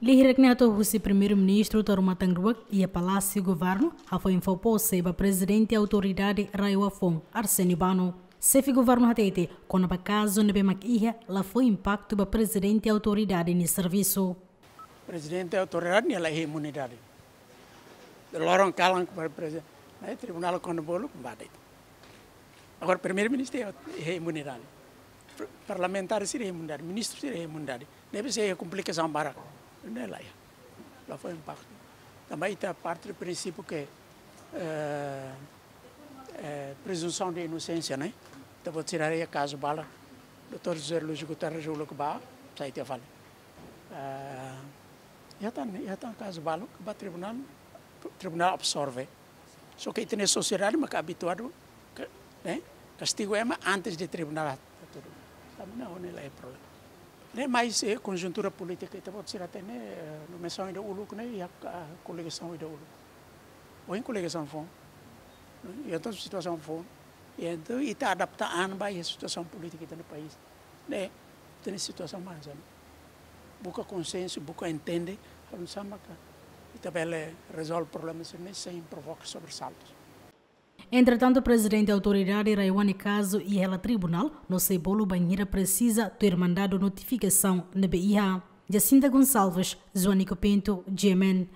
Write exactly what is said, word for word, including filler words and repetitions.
Lia hirak ne'e hato'o husi Primeiru-Ministru Taur Matan Ruak iha Palásiu Governu, hafoin fó pose ba Prezidente Autoridade RAEOA foun, Arsénio Bano. Xefe Governu hatete kona-ba kazu ne'ebé mak iha la fó impaktu ba Prezidente Autoridade nia servisu. Prezidente Autoridade nia la iha imunidade. Loron kalan para prezidente, ne'e tribunál kona bolu kembali. Agora Primeiru-Ministru iha imunidade. Parlamentár sira iha imunidade, ministru sira iha imunidade. Ne'ebé sei iha komplikasaun barak. Ne'e la iha. La fó impaktu. Tanba ita parte do princípio que, eh, eh, presunção de inocência, né? Ita-boot sira haree kazu balu, doutór José Lúcio Guterres uluk bá, sai tiha fali. Eh, iha tan, iha tan kazu balu, ba tribunál, tribunál absorve. Só que ita-nia sosiedade mak abituadu, ke, né? Kastigu ema antes de tribunál hatudu. Tanba ne'e la iha problema. Ne'e mais, eh, konjuntura polítika, ita-boot sira hatene, eh, nomeasaun ida uluk ne'e, iha, ah, koligasaun ida uluk. Ohin koligasaun foun. Iha tan situasaun foun. Entaun, ita adapta an ba iha situasaun polítika ita-nia país. Ne'e, ita-nia situasaun mak hanesan ne'e. Buka konsensu, buka entende, halo nu'usá maka ita bele rezolve problema sira-ne'e sein provoka sobresaltus. Entretantu, Prezidente Autoridade RAEOA nia kazu iha hela tribunál, no sei bolu bainhira presiza tuir mandadu notifikasaun ne'ebé iha. Jacinta Gonçalves, Joanico Pinto, G M N.